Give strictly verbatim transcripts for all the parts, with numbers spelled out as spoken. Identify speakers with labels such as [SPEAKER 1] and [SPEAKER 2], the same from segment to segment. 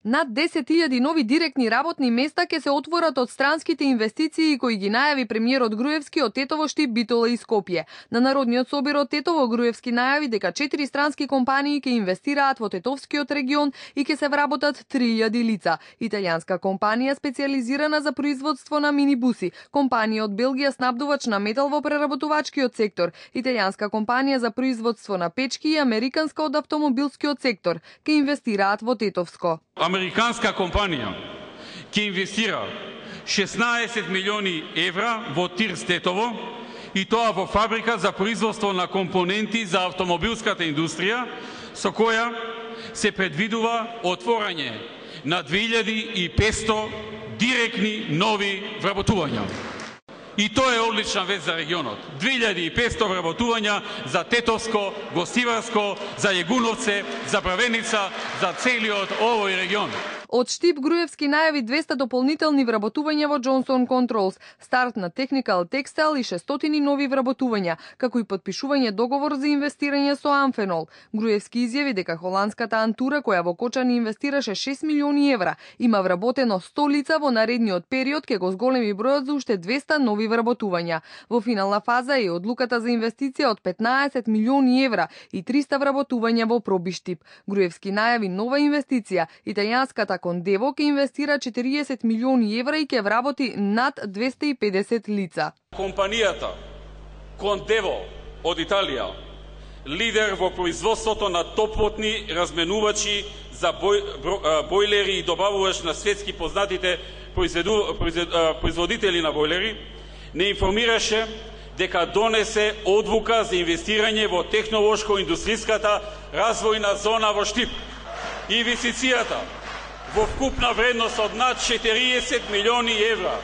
[SPEAKER 1] Над десет илјади нови директни работни места ќе се отворат од странските инвестиции кои ги најави премиерот Груевски од Тетово, Штип, Битола и Скопје. На Народниот собир од Тетово Груевски најави дека четири странски компании ќе инвестираат во Тетовскиот регион и ќе се вработат три илјади лица. Италијанска компанија специјализирана за производство на минибуси, компанија од Белгија снабдувач на метал во преработувачкиот сектор, италијанска компанија за производство на печки и американска од автомобилскиот сектор ќе инвестираат во Тетовско.
[SPEAKER 2] Американска компанија ќе инвестира шеснаесет милиони евра во ТИР Тетово и тоа во фабрика за производство на компоненти за автомобилската индустрија, со која се предвидува отворање на две илјади и петсто директни нови вработувања. И тоа е одлична вест за регионот. две илјади и петсто вработувања за Тетовско, Гостиварско, за Јегуновце, за Бравеница, за целиот овој регион.
[SPEAKER 1] Од Штип Груевски најави двеста дополнителни вработувања во Johnson Controls, старт на Technical Textile и шестстотини нови вработувања, како и подпишување договор за инвестирање со Амфенол. Груевски изјави дека холандската Антура, која во Кочани инвестираше шест милиони евра, има вработено сто лица во наредниот период, ке го зголеми бројот за уште двеста нови вработувања. Во финална фаза е одлуката за инвестиција од петнаесет милиони евра и триста вработувања во Проби Штип. Груевски најави нова инвестиција, италијанската Кондево ќе инвестира четириесет милиони евра и ќе вработи над двесте и педесет лица.
[SPEAKER 2] Компанијата Кондево од Италија, лидер во производството на топлотни разменувачи за бој, бојлери и добавувач на светски познатите производители на бојлери, не информираше дека донесе одлука за инвестирање во технолошко-индустријската развојна зона во Штип. Инвестицијата во вкупна вредност од над четириесет милиони евра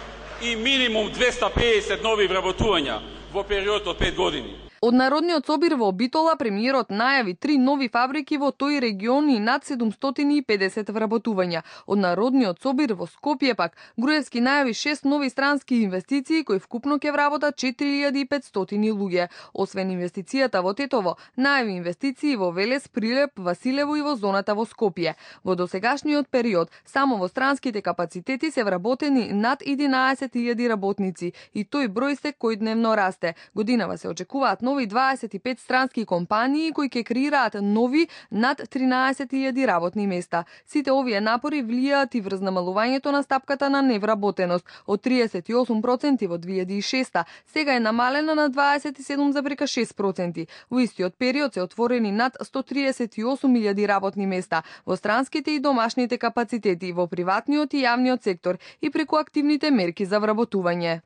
[SPEAKER 2] и минимум двесте и педесет нови вработувања во период од пет години.
[SPEAKER 1] Од Народниот собир во Битола премиерот најави три нови фабрики во тој регион и над седумстотини и педесет вработувања. Од Народниот собир во Скопје пак Груевски најави шест нови странски инвестиции кои вкупно ќе вработат четири илјади и петстотини луѓе. Освен инвестицијата во Тетово, најави инвестиции во Велес, Прилеп, Василево и во зоната во Скопје. Во досегашниот период само во странските капацитети се вработени над единаесет илјади работници и тој број секојдневно расте. Годинава се очекуваат нови дваесет и пет странски компании кои ќе креираат нови над тринаесет илјади работни места. Сите овие напори влијаат и врз намалувањето на стапката на невработеност од триесет и осум проценти во две илјади и шеста, сега е намалена на дваесет и седум зарез шест проценти. Во истиот период се отворени над сто триесет и осум илјади работни места во странските и домашните капацитети, во приватниот и јавниот сектор и преку активните мерки за вработување.